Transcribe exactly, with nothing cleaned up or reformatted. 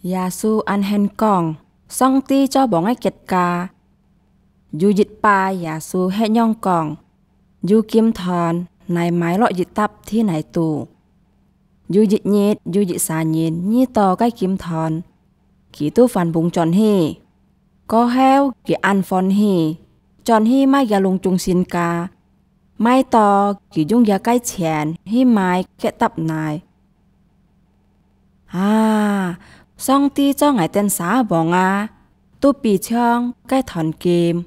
耶穌恁形講，上帝做王个結果。有一擺，耶穌歇仰講：「有金團，𠊎買落一沓地泥肚。」有一日，有一儕人遇到該金團，佢就還攏轉去。過後，佢恁歡喜，轉去賣厥攏總身家，賣到佢用厥个錢去買該沓泥。「啊，上帝做𠊎等儕王啊，都比像該團金